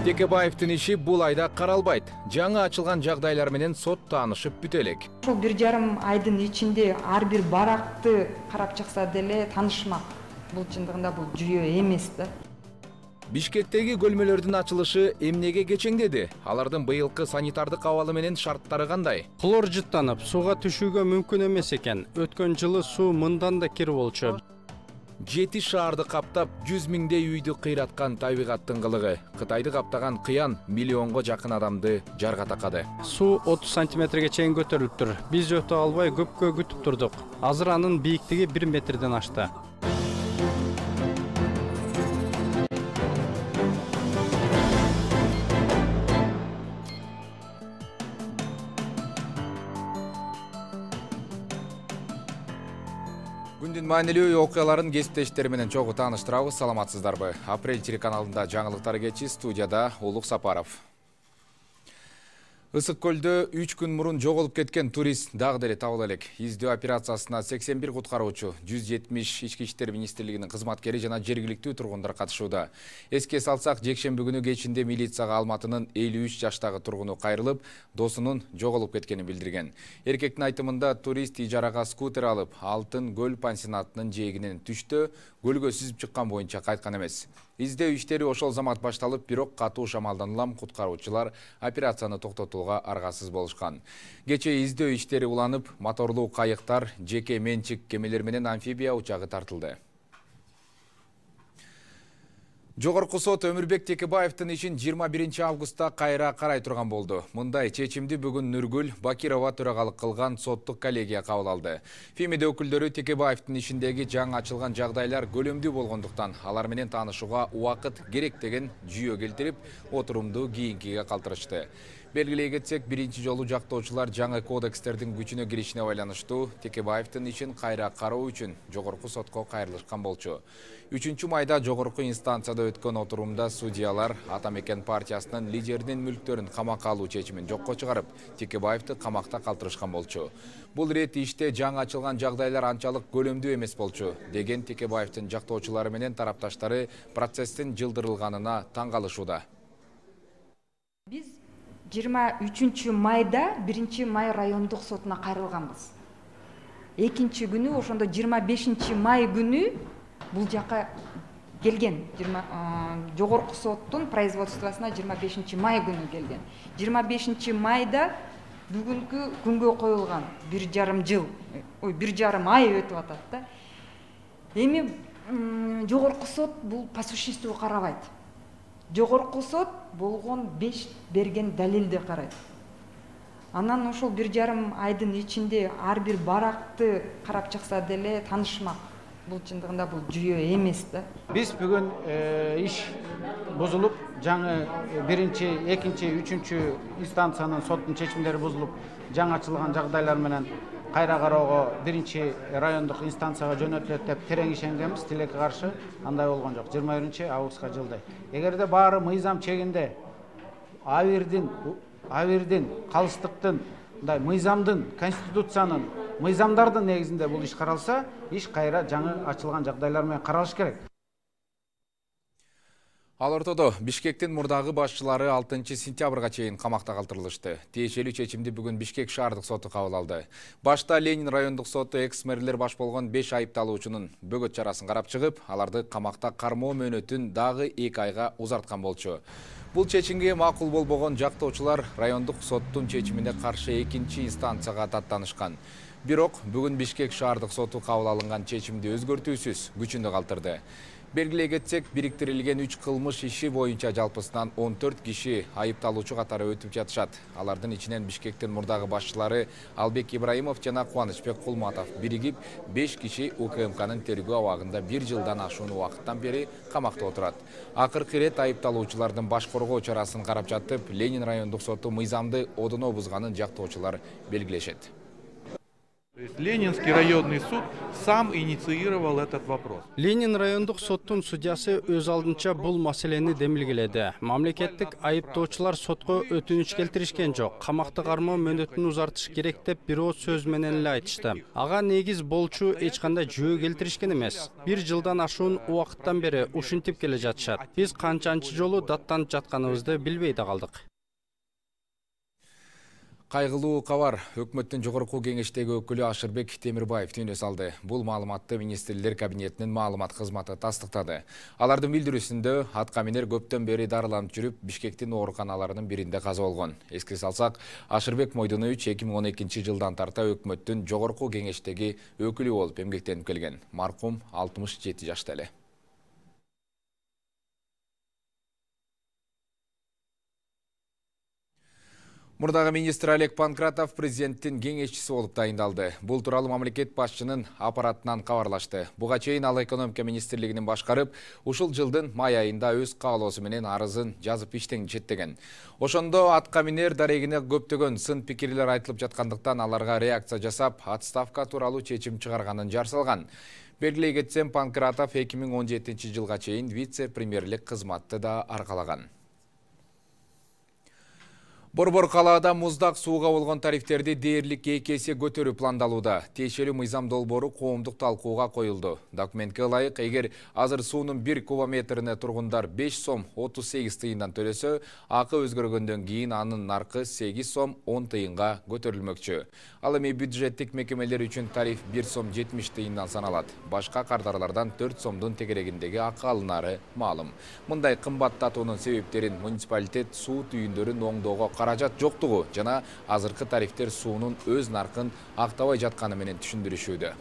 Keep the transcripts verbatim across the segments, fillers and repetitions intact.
Текебаевдин иши бул айда каралбайт. Жаңы ачылган жагдайлар менен сот таанышып бүтө элек. Ошол бир жарым айдын ичинде ар бир баракты карап чыкса деле таанышмак. Бул чындыгында бул жүйө эмес да. Бишкектеги көлмөлөрдүн ачылышы эмнеге кечеңдеди? Алардын быйылкы санитардык абалы менен шарттары кандай? Хлор жыттанып, сууга түшүүгө мүмкүн эмес экен. Өткөн жылы суу мындан да кир болчу. Жети шаарды каптап, жүз миңдей үйдү кыйраткан табигаттын кылыгы. Кытайды каптаган кыян миллионго жакын адамды жарга такады. Суу отуз сантиметрге чейин көтөрүлүптүр. Биз өтө албай көпкө күтүп турдук. Азыр анын бийиктиги бир метрден ашты. Күндүн маанилүү окуяларын кесиптештери менен чогуу тааныштырабыз. Саламатсыздарбы? Апрель телеканалында жаңылыктар кечи, студияда Улук Сапаров. Ысык көлдө үч күн мурун жоголуп кеткен турист дагы деле табыла элек. Издөө операциясына сексен бир куткаруучу, жүз жетимиш Ички иштер министрлигинин кызматкери жана жергиликтүү тургундар катышууда. Эске салсак, жекшемби күнү кечинде милицияга Алматынын элүү үч жаштагы тургуну кайрылып, досунун жоголуп кеткенин билдирген. Эркектин айтымында турист ижарага скутер алып, Алтын көл пансионатынын жээгинен түштө, көлгө сүзүп чыккан боюнча кайткан эмес. Издөө иштери ошол замат башталып, бирок катуу шамалдан улам куткаруучулар операцияны токтотууга аргасыз болушкан. Кечээ издөө иштери уланып, моторлуу кайыктар, жеке менчик кемелер менен амфибия учагы тартылды. Жогорку сот Өмүрбек Текебаевдин ишин жыйырма биринчи августта кайра карай турган болду. Мындай чечимди бүгүн Нургүл Бакирова төрагалык кылган соттук коллегия кабыл алды. ФИМИД өкүлдөрү Текебаевдин ишиндеги жаңы ачылган жагдайлар көлөмдүү болгондуктан, алар менен таанышууга убакыт керек деген жүйө келтирип, отурумду кийинкиге калтырышты. Белгилей кетсек, биринчи жолу жактоочулар жаңы кодекстердин күчүнө киришине байланыштуу Текебаевдин ишин кайра кароо үчүн жогорку сотко кайрылышкан болчу. үчүнчү майда жогорку инстанцияда өткөн отурумда судьялар Атамекен партиясынын лидеринин мүлктөрүн камакка алуу чечимин жокко чыгарып, Текебаевди камакта калтырышкан болчу. Бул ирет иште жаңы ачылган жагдайлар анчалык көлөмдүү эмес болчу, деген Текебаевдин жактоочулары менен тарапташтары процесстин жылдырылганына таң калышууда. Биз жыйырма үчүнчү майда биринчи май райондук сотуна кайрылганбыз. Экинчи күнү, ошондо жыйырма бешинчи май күнү бул жака келген. Жогорку соттун производствосуна жыйырма бешинчи май күнү келген. жыйырма бешинчи майда бүгүнкү күнгө коюлган бир жарым жыл, ой, бир жарым ай өтүп атат да. Эми жогорку сот бул по существу карабайт. Жогорку сот болгон беш берген далилди карайт. Анан ошол бир жарым айдын ичинде ар бир баракты карап чыкса деле таанышмак. Бул чындыгында бул жүйө эмес да. Биз бүгүн иш бузулуп, жаңы биринчи, экинчи, үчүнчү инстанциянын соттун чечимдери бузулуп, жаңы ачылган жагдайлар менен кайра кароого биринчи райондук инстанцияга жөнөтүлөт деп терең ишенгенбиз, тилекке каршы андай болгон жок. жыйырма биринчи августка жылдай. Эгерде баары мыйзам чегинде абирдин, абирдин, калыстыктын, мындай мыйзамдын, конституциянын, мыйзамдардын негизинде бул иш каралса, иш кайра жаңы ачылган жагдайлар менен каралыш керек. Ал ортодо Бишкектин мурдагы башчылары алтынчы сентябрга чейин камакта калтырылышты. Тиешелүү чечимди бүгүн Бишкек шаардык соту кабыл алды. Башта Ленин райондук соту экс-мэрлер баш болгон беш айыпталуучунун бөгөт чарасын карап чыгып, аларды камакта кармоо мөөнөтүн дагы эки айга узарткан болчу. Бул чечимге макул болбогон жактоочулар райондук соттун чечимине каршы экинчи инстанцияга даттанышкан. Бирок бүгүн Бишкек шаардык соту кабыл алынган чечимди өзгөртүүсүз күчүндө калтырды. Белгилей кетсек, бириктирилген үч кылмыш иши боюнча жалпысынан он төрт киши айыпталуучу катары өтүп жатышат. Алардын ичинен Бишкектин мурдагы башчылары Албек Ибраимов жана Кубанычбек Кулматов биригип беш киши УКМКнын тергөө абагында бир жылдан ашуун убакыттан бери камакта отурат. Акыркы ирет айыпталуучулардын баш коргоо чарасын карап жатып, Ленин райондук соту мыйзамды одоно бузганын жактоочулар белгилешет. Ленинский районный суд сам инициировал этот вопрос. Ленин райондук соттун судьясы өз алдынча бул маселени демилгеледи. Мамлекеттик айыптоочулар сотко өтүнүч келтиришкен жок. Камакта кармоо мөөнөтүн узартыш керек деп бирөө сөз менен эле айтышты. Ага негиз болчу эч кандай жөө келтиришкен эмес. Бир жылдан ашуун убакыттан бери ушинтип келе жатышат. Биз канчанчы жолу даттанып жатканыбызды билбей да калдык. Кайгылуу кабар. Өкмөттүн жогорку кеңештеги өкүлү Ашырбек Темирбаев түнө салды. Бул маалыматты министрлер кабинетинин маалымат кызматы тастыктады. Алардын билдирүүсүндө аткаминер көптөн бери дарыланып жүрүп, Бишкектин ооруканаларынын биринде каза болгон. Эске салсак, Ашырбек Мойдунович эки миң он экинчи жылдан тарта өкмөттүн жогорку кеңештеги өкүлү болуп эмгектенип келген. Маркум алтымыш жети жашта эле. Мурдагы министр Олег Панкратов президенттин кеңешчиси болуп дайындалды. Бул тууралуу мамлекет башчынын аппаратынан кабарлашты. Буга чейин ал экономика министрлигинин башкарып, ушул жылдын май айында өз каалоосу менен арызын жазып иштен четтеген. Ошондо аткаминер дарегине көптөгөн сын пикирлер айтылып жаткандыктан аларга реакция жасап, отставка тууралуу чечим чыгарганын жарсалган. Белгилей кетсем, Панкратов эки миң он жетинчи жылга чейин вице-премьерлик кызматты да аркалаган. Борбор калаада муздак сууга болгон тарифтерди дээрлик эки эсе көтөрүү пландалууда. Тиешелүү мыйзам долбоору коомдук талкууга коюлду. Документке ылайык, эгер азыр суунун бир кубометрине тургундар беш сом отуз сегиз тыйындан төлөсө, акы өзгөргөндөн кийин анын наркы сегиз сом он тыйынга көтөрүлмөкчү. Ал эми бюджеттик мекемелер үчүн тариф бир сом жетимиш тыйындан саналат. Башка кардарлардан төрт сомдун тегерегиндеги акы алынары маалым. Мындай кымбаттатуунун себептерин муниципалитет суу түйүндөрүн оңдоого каражат жоктугу жана азыркы тарифтер суунун өз наркын актабай жатканы менен түшүндүрүшүүдө.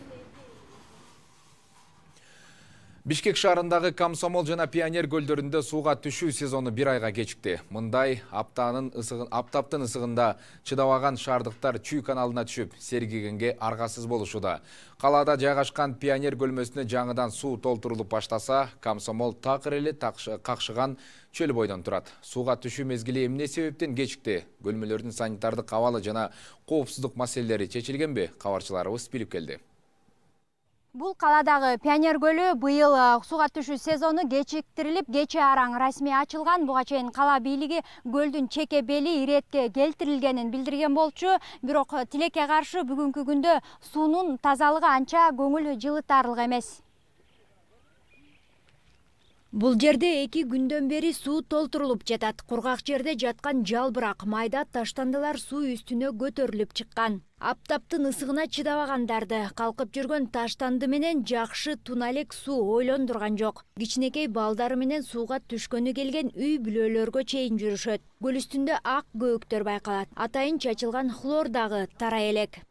Бишкек шаарындагы Комсомол жана Пионер көлдөрүндө сууга түшүү сезону бир айга кечикти. Мындай аптанын ысыгын, аптаптын ысыгында чыдабаган шаардыктар Чүй каналына түшүп, сергегенге аргасыз болушуда. Калаада жайгашкан Пионер көлмөсүнө жаңыдан суу толтурулуп баштаса, Комсомол такыр эле какшыган чөл бойдон турат. Сууга түшүү мезгили эмне себептен кечикти? Көлмөлөрдүн санитардык абалы жана коопсуздук маселелери чечилгенби? Кабарчыларыбыз билип келди. Бул каладагы Пионер көлү быйыл сууга түшүү сезону кечиктирилип, кечээ араң расмий ачылган. Буга чейин кала бийлиги көлдүн чеке бели иретке келтирилгенин билдирген болчу. Бирок тилекке каршы бүгүнкү күндө суунун тазалыгы анча көңүл жылытарлык эмес. Бул жерде эки күндөн бери суу толтурулуп жатат. Кургак жерде жаткан жалбырак, майда таштандылар суу үстүнө көтөрүлүп чыккан. Аптаптын ысыгына чыдабагандарды калкып жүргөн таштанды менен жакшы туна элек суу ойлондурган жок. Кичинекей балдары менен сууга түшкөнү келген үй бүлөлөргө чейин жүрүшөт. Көл үстүндө ак көөктөр байкалат. Атайын чачылган хлор дагы тарай элек.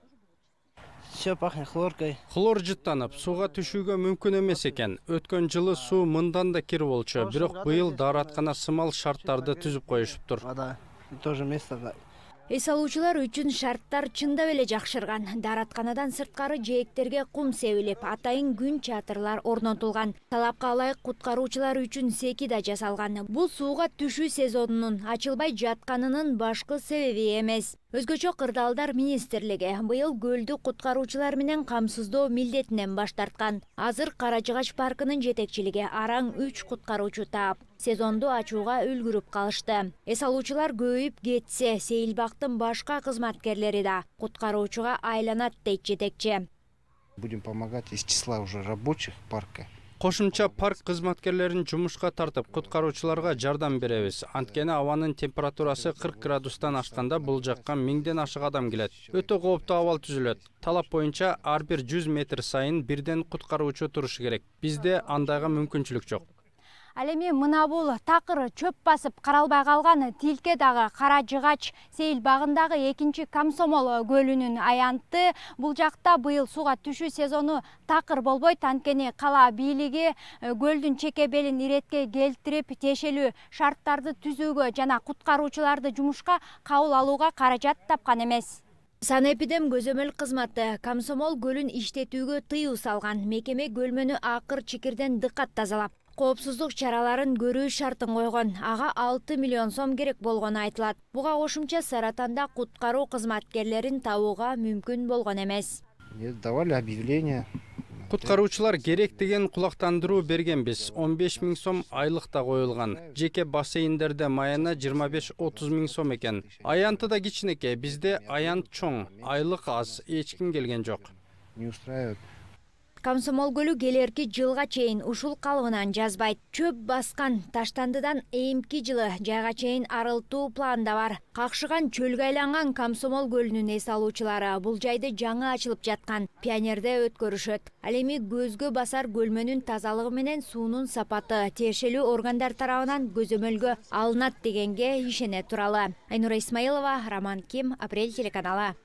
Все пахнет хлоркой. Хлор жыттанып, сууга түшүүгө мүмкүн эмес экен. Өткөн жылы суу мындан да кир болчу, бирок быйыл даараткана сымал шарттарды түзүп коюшуптур. Вода тоже место. Эс алуучулар үчүн шарттар чындап эле жакшырган. Дааратканадан сырткары жээктерге кум себилип, атайын күн чатырлар орнотулган. Талапка ылайык куткаруучулар үчүн секи да жасалган. Бул сууга түшүү сезонунун ачылбай жатканынын башкы себеби эмес. Өзгөчө Кырдаалдар министрлиги быйыл көлдү куткаруучулар менен камсыздоо милдетинен баш тарткан. Азыр Кара Жыгач паркынын жетекчилиги араң үч куткаруучу таап, сезонду ачууга үлгүрүп калышты. Эс алуучулар көбөйүп кетсе, Сейилбактын башка кызматкерлери да куткаруучуга айланат дейт жетекчи. Будем помогать из числа уже рабочих парка. Кошумча парк кызматкерлерин жумушка тартып, куткаруучуларга жардам беребиз. Анткени абанын температурасы кырк градустан ашканда бул жакка миңден ашык адам келет. Өтө кооптуу абал түзүлөт. Талап боюнча ар бир жүз метр сайын бирден куткаруучу турушу керек. Бизде андайга мүмкүнчүлүк жок. Ал эми мына бул такыр чөп басып каралбай калган Тилке дагы Кара Жыгач Сейил багындагы экинчи Комсомол көлүнүн аянты. Бул жакта быйыл сууга түшүү сезону такыр болбойт, анткени кала бийлиги көлдүн чеке белин иретке келтирип, тиешелүү шарттарды түзүүгө жана куткаруучуларды жумушка кабыл алууга каражат тапкан эмес. Санэпидем көзөмөл кызматы Комсомол көлүн иштетүүгө тыюу салган. Мекеме көлмөнү акыр чикирден дыкат тазалап, коопсуздук чараларын көрүү шартын койгон. Ага алты миллион сом керек болгону айтылат. Буга кошумча Саратанда куткаруу кызматкерлерин табууга мүмкүн болгон эмес. И давали объявление. Куткаруучулар керек деген кулактандыруу бергенбиз. он беш миң сом айлык да коюлган. Жеке бассейндерде майына жыйырма беш отуз миң сом экен. Аянты да кичинекей, бизде аянт чоң, айлык аз, эч ким келген жок. Не устраивает. Комсомол көлү келерки жылга чейин ушул калыбынан жазбайт. Чөп баскан Таштандыдан эми жылы жайга чейин арылтуу планда бар. Какшыган чөлгө айланган Комсомол көлүнүн эс алуучулары бул жайды жаңы ачылып жаткан Пионерде өткөрүшөт. Ал эми көзгө басар көлмөнүн тазалыгы менен суунун сапаты тиешелүү органдар тарабынан көзөмөлгө алынат дегенге ишене туралы. Айнура Исмаилова, Роман Ким, Апрель телеканалы.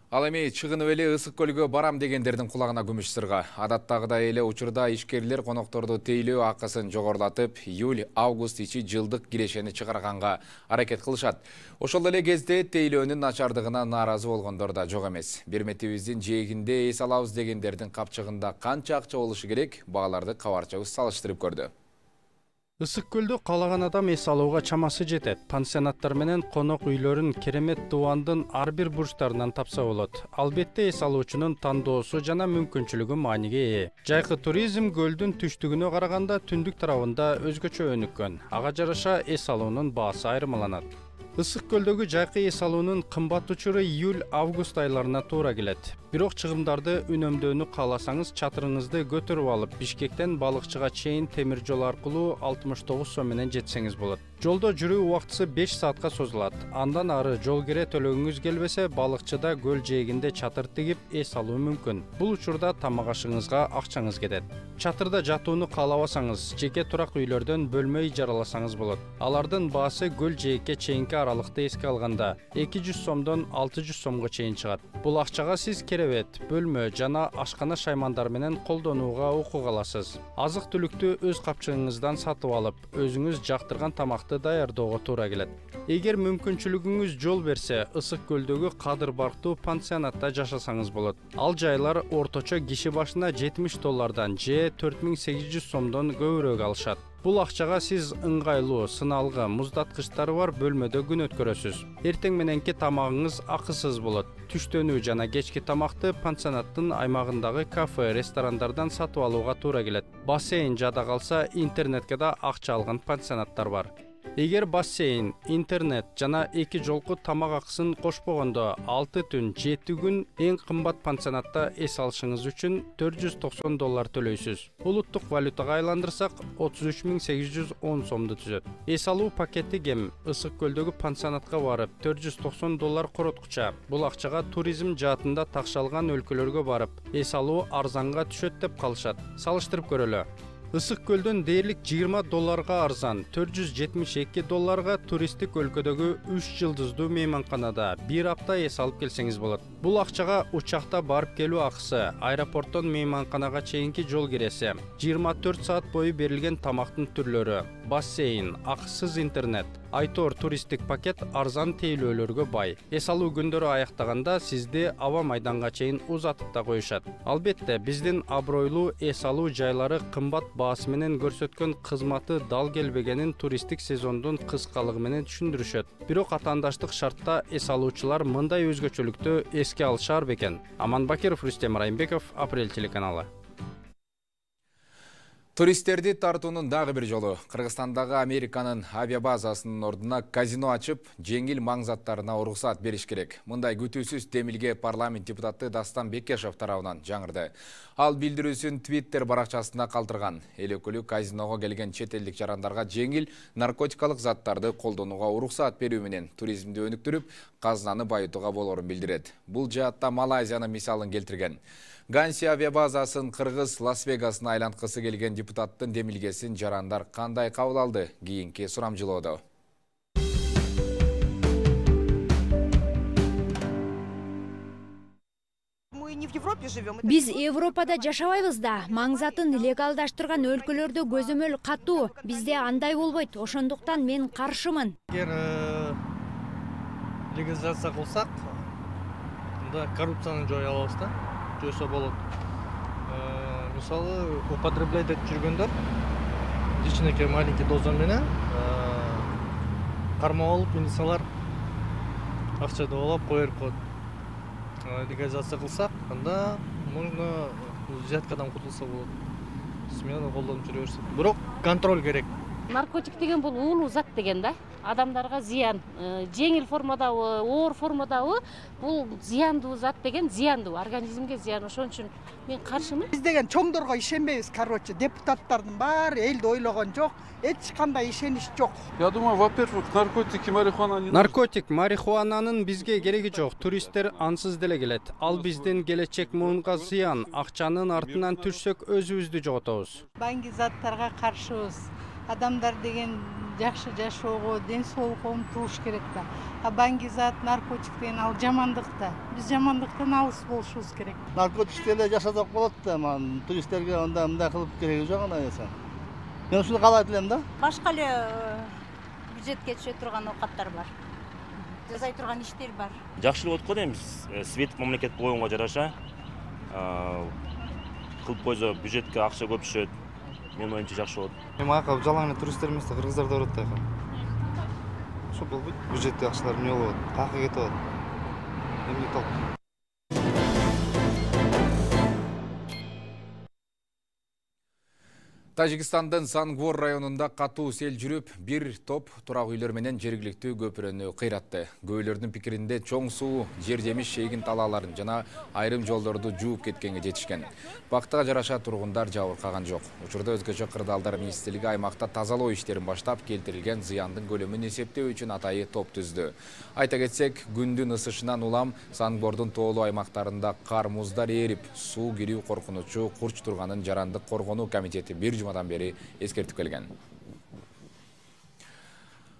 Ал эми чыгынып эле ысык көлгө барам дегендердин кулагына күмүш сырга. Адаттагыдай эле учурда ишкерлер конокторду тейлөө акысын жогорулатып, июль-август ичи жылдык кирешени чыгарганга аракет кылышат. Ошол эле кезде тейлөөнүн начардыгына нааразы болгондор да жок эмес. Берметибиздин жээгинде эс алабыз дегендердин капчыгында канча акча болушу керек, багаларды кабарчыбыз салыштырып көрдү. Ысык көлдө каалаган адам эс алууга чамасы жетет. Пансионаттар менен конок үйлөрүн керемет дубандын ар бир бурчтарынан тапса болот. Албетте эс алуучунун тандоосу жана мүмкүнчүлүгү мааниге ээ. Жайкы туризм көлдүн түштүгүнө караганда түндүк тарабында өзгөчө өнүккөн. Ага жараша эс алуунун баасы айырмаланат. Ысык көлдөгү жайкы эс алуунун кымбат учуру июль-август айларына туура келет. Бирок чыгымдарды үнөмдөөнү кааласаңыз, чатырыңызды көтөрүп алып, Бишкектен балыкчыга чейин темир жол аркылуу алтымыш тогуз сом менен жетсеңиз болот. Жолдо жүрүү убактысы беш саатка созулат. Андан ары жол кире төлөгүңүз келбесе, балыкчыда көл жээгинде чатыр тигип эс алуу мүмкүн. Бул учурда тамак ашыңызга акчаңыз кетет. Чатырда жатууну каалабасаңыз, жеке турак үйлөрдөн бөлмө ижараласаңыз болот. Алардын баасы көл жээкке чейинки аралыкты эске алганда эки жүз сомдон алты жүз сомго чейин чыгат. Бул акчага сиз керебет, бөлмө жана ашкана шаймандар менен колдонууга укук аласыз. Азык түлүктү өз капчыгыңыздан сатып алып, өзүңүз жактырган тамакты даярдоого туура келет. Эгер мүмкүнчүлүгүңүз жол берсе, ысык көлдөгү Кадыр Барктуу пансионатта жашасаңыз болот. Ал жайлар орточо киши башына жетимиш доллардан же төрт миң сегиз жүз сомдон көбүрөөк алышат. Бул акчага сиз ыңгайлуу, сыналгы, муздаткычтары бар бөлмөдө күн өткөрөсүз. Эртең мененки тамагыңыз акысыз болот. Түштөнүү жана кечки тамакты пансионаттын аймагындагы кафе, ресторандардан сатып алууга туура келет. Бассейн жада калса, интернетке да акча алган пансионаттар бар. Эгер бассейн, интернет жана эки жолку тамак акысын кошпогондо алты түн, жети күн эң кымбат пансионатта эс алышыңыз үчүн төрт жүз токсон доллар төлөйсүз. Улуттук валютага айландырсак отуз үч миң сегиз жүз он сомду түзөт. Эс алуу пакети кем ысык көлдөгү пансионатка барып төрт жүз токсон доллар короткуча. Бул акчага туризм жаатында такшалган өлкөлөргө барып эс алуу арзанга түшөт деп калышат. Салыштырып көрөлү. Ысык көлдөн дээрлик жыйырма долларга арзан, төрт жүз жетимиш эки долларга туристтик өлкөдөгү үч жылдыздуу мейманканада бир апта эс алып келсеңиз болот. Бул акчага учакта барып келүү акысы, аэропорттон мейманканага чейинки жол киреси, жыйырма төрт саат бою берилген тамактын түрлөрү, бассейн, акысыз интернет, айтор туристтик пакет арзан тейлөөлөргө бай. Эс алуу күндөрү аяктаганда сизди аба майданга чейин узатып да коюшат. Албетте, биздин абройлуу эс алуу жайлары кымбат баасы менен көрсөткөн кызматы дал келбегенин туристтик сезондун кыскалыгы менен түшүндүрүшөт. Бирок атаандаштык шартта эс алуучулар мындай өзгөчөлүктү эске алышар бекен. Аман Бакиров, Рустем Райымбеков, Апрель телеканалы. Туристтерди тартуунун дагы бир жолу Кыргызстандагы Американын авиабазасынын ордуна казино ачып, жеңил маң заттарына уруксат бериш керек. Мындай күтүүсүз демилге парламент депутаты Дастан Бекешев тарабынан жаңырды. Ал билдирүүсүн Twitter баракчасына калтырган. Эл өкүлү казиного келген чет элдик жарандарга жеңил наркотикалык заттарды колдонууга уруксат берүү менен туризмди өнүктүрүп, казынаны байытууга болорун билдирет. Бул жаатта Малайзиянын мисалын келтирген. Ганси авиабазасын Кыргыз Лас-Вегасына айланткысы келген депутаттын демилгесин жарандар кандай кабыл алды? Кийинки сурамжылоодо. Биз Европада жашабайбыз да, маң затын легалдаштырган өлкөлөрдө көзөмөл катуу. Бизде андай болбойт, ошондуктан мен каршымын. Эгер легализация кылсак, анда коррупцияны жоя алабыз да. Жойсо болот. Мисалы, употреблять этип жүргөндөр кичинекей маленький доза менен кармап алып, милициялар акча деп алып кое берип коет. легализация кылсак, анда можно взяткадан кутулса болот. Смело колдонуп жүрө берсе. Бирок контроль керек. Наркотик деген бул уулуу зат деген да. Адамдарга зыян, жеңил формадабы, оор формадабы, бул зыяндуу зат деген зыяндуу, организмге зыян. Ошон үчүн мен каршымын. Биз деген чоңдорго ишенбейбиз, короче, депутаттардын баары элди ойлогон жок, эч кандай ишенич жок. Я думаю, во-первых, наркотики, марихуана не... Наркотик, марихуананын бизге кереги жок. Туристтер ансыз деле келет. Ал биздин келечек муунга зыян. Акчанын артынан түшсөк өзүбүздү жоготобуз. Банги заттарга каршыбыз. Адамдар деген жакшы жашоого, ден соолукка умтулуш керек да. А банги зат, наркотик деген ал жамандык да. Биз жамандыктан алыс болушубуз керек. Наркотиктерди жашасак болот да, ман туристтерге анда мындай кылып кереги жок анда эсен. Мен ушуну каалайт элем да. Башка эле бюджетке түшө турган оокаттар бар. Жасай турган иштер бар. Жакшы болот го деймиз. Свет мамлекет болгонго жараша кылып койсо бюджетке акча көп түшөт. Мен оюмча жакшы болот. Эми ака жалаң эле туристтер эмес да, кыргыздар да барат да ака. Ошо болбойт. Бюджетте акчалар эмне болот? Каяка кетип атат? Эмне толк? Тажикстандын Сангвор районунда катуу сел жүрүп, бир топ турак үйлөр менен жергиликтүү көпүрөнү кыйратты. Көбөлөрдүн пикиринде чоң суу жер жемиш шейгин талааларын жана айрым жолдорду жууп кеткенге жетишкен. Бактыга жараша тургундар жабыркаган жок. Учурда өзгөчө кырдаалдар министрлиги аймакта тазалоо иштерин баштап, келтирилген зыяндын көлөмүн эсептөө үчүн атайы топ түздү. Айта кетсек, күндүн ысышынан улам Сангвордун тоолуу аймактарында кар муздар эрип, суу кирүү коркунучу курч турганын Жарандык коргонуу комитети бир жумадан бери эскертип келген.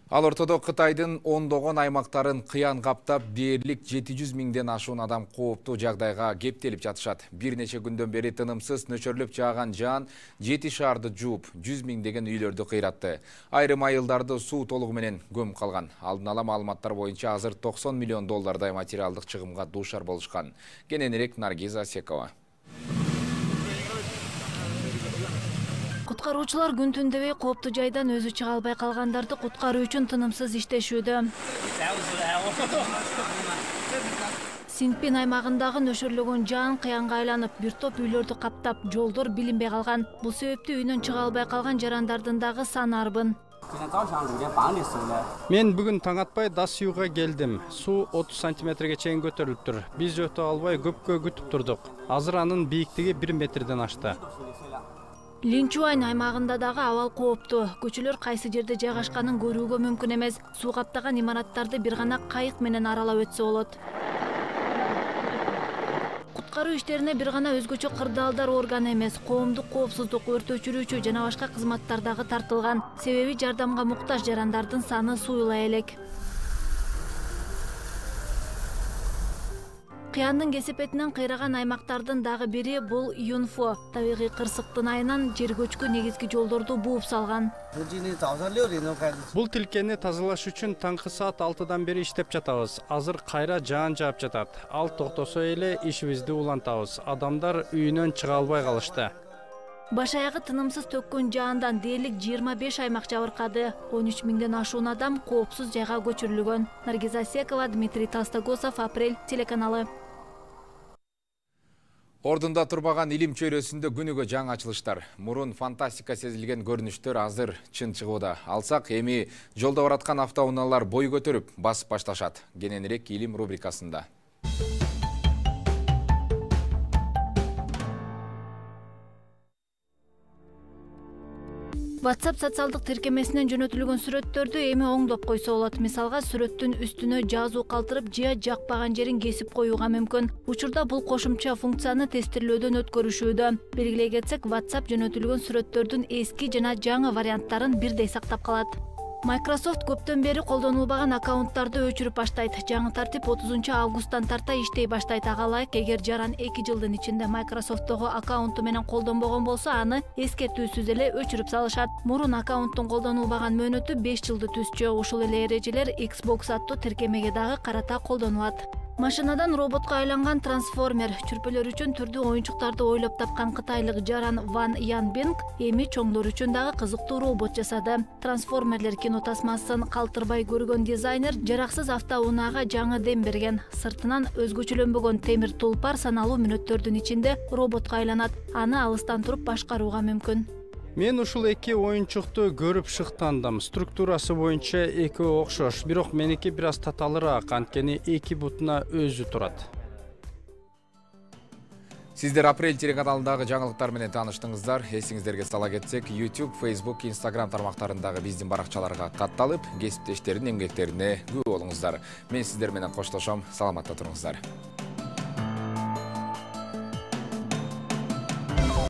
Ал ортодо Кытайдын ондогон аймактарын кыян каптап, дээрлик жети жүз миңден ашуун адам кооптуу жагдайга кептелип жатышат. Бир нече күндөн бери тынымсыз нөчөрлөп жааган жаан жети шаарды жууп, жүз миңдеген үйлөрдү кыйратты. Айрым айылдарды суу толугу менен көмүп калган. Алдын ала маалыматтар боюнча азыр токсон миллион доллардай материалдык чыгымга дуушар болушкан. Кененирээк Наргиза Секова. Куткаруучулар күн түн дебей кооптуу жайдан өзү чыга албай калгандарды куткаруу үчүн тынымсыз иштешүүдө. Сингпин аймагындагы нөшөрлөгөн жаан кыянга айланып, бир топ үйлөрдү каптап, жолдор билинбей калган. Бул себептүү үйүнөн чыга албай калган жарандардын дагы саны арбын. Мен бүгүн таң атпай Дасюга келдим. Суу отуз сантиметрге чейин көтөрүлүптүр. Биз өтө албай көпкө күтүп турдук. Азыр анын бийиктиги бир метрден ашты. Линчуань аймагында дагы абал кооптуу. Көчөлөр кайсы жерде жайгашканын көрүүгө мүмкүн эмес. Суу каптаган имараттарды бир гана кайык менен аралап өтсө болот. Куткаруу иштерине бир гана өзгөчө кырдаалдар органы эмес, коомдук коопсуздук, өрт өчүрүүчү жана башка кызматтар дагы тартылган. Себеби жардамга муктаж жарандардын саны суюла элек. Кыяндын кесепетинен кыйраган аймактардын дагы бири бул Юнфо. Табигый кырсыктын айынан жер көчкү негизги жолдорду бууп салган. Бул тилкени тазалаш үчүн таңкы саат алтыдан бери иштеп жатабыз. Азыр кайра жаан жаап жатат. Ал токтосо эле ишибизди улантабыз. Адамдар үйүнөн чыга албай калышты. Баш аягы тынымсыз төккөн жаандан дээрлик жыйырма беш аймак жабыркады. он үч миңден ашуун адам коопсуз жайга көчүрүлгөн. Наргиза Секова, Дмитрий Толстогосов, Апрель телеканалы. Ордунда турбаган илим чөйрөсүндө күнүгө жаңы ачылыштар. Мурун фантастика сезилген көрүнүштөр азыр чын чыгууда. Алсак эми жолдо бараткан автоунаалар бой көтөрүп басып башташат. Кененирээк илим рубрикасында. WhatsApp социалдык тиркемесинен жөнөтүлгөн сүрөттөрдү эми оңдоп койсо болот. Мисалга, сүрөттүн үстүнө жазуу калтырып же жакпаган жерин кесип коюуга мүмкүн. Учурда бул кошумча функцияны тестирлөөдөн өткөрүшүүдө. Белгилей кетсек, WhatsApp жөнөтүлгөн сүрөттөрдүн эски жана жаңы варианттарын бирдей сактап калат. Microsoft көптөн бери колдонулбаган аккаунттарды өчүрүп баштайт. Жаңы тартип отузунчу августтан тарта иштей баштайт. Ага ылайык, эгер жаран эки жылдын ичинде Microsoft'тогу аккаунту менен колдонбогон болсо, аны эскертүүсүз эле өчүрүп салышат. Мурун аккаунттун колдонулбаган мөөнөтү беш жылды түзчү. Ушул эле эрежелер Xbox аттуу тиркемеге дагы карата колдонулат. Машинадан роботко айланган трансформер чүрпөлөр үчүн түрдүү оюнчуктарды ойлоп тапкан кытайлык жаран Ван Янбинг эми чоңдор үчүн дагы кызыктуу робот жасады. Трансформерлер кинотасмасын калтырбай көргөн дизайнер жараксыз автоунаага жаңы дем берген. Сыртынан өзгөчөлөнбөгөн темир тулпар саналуу мүнөттөрдүн ичинде роботко айланат. Аны алыстан туруп башкарууга мүмкүн. Мен ушул эки оюнчукту көрүп шыктандым. Структурасы боюнча экөө окшош, бирок меники бир аз таталыраак, анткени эки бутуна өзү турат. Сиздер Апрель телеканалындагы жаңылыктар менен тааныштыңыздар. Эсиңиздерге сала кетсек, YouTube, Facebook, Instagram тармактарындагы биздин баракчаларга катталып, кесиптештердин эмгектерине күбө болуңуздар. Мен сиздер менен коштошом. Саламатта туруңуздар.